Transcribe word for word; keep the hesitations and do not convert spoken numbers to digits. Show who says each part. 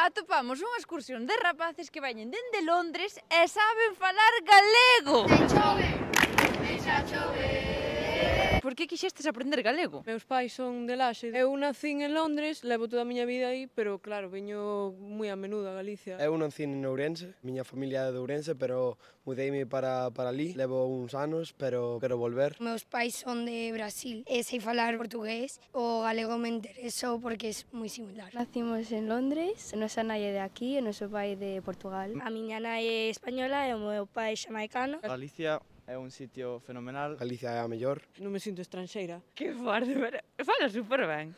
Speaker 1: Atopamos unha excursión de rapaces que veñen dende Londres e saben falar galego.
Speaker 2: Ten chove, deixa chover.
Speaker 1: Por que quixestes aprender galego?
Speaker 3: Meus pais son de Laxe. Eu nacín en Londres, levo toda a miña vida aí, pero claro, veño moi a menudo a Galicia.
Speaker 4: Eu nacín en Ourense, miña familia é de Ourense, pero mudeime para, para ali. Levo uns anos, pero quero volver.
Speaker 2: Meus pais son de Brasil e sei falar portugués. O galego me interesou porque é moi similar.
Speaker 5: Nacimos en Londres, a nosa nai é de aquí e o noso pai de Portugal.
Speaker 6: A miña nai é española e o meu pai xamaicano.
Speaker 7: Galicia é un sitio fenomenal.
Speaker 4: Galicia é a mellor.
Speaker 3: Non me sinto estranxeira.
Speaker 1: Que forte, pero fala super ben.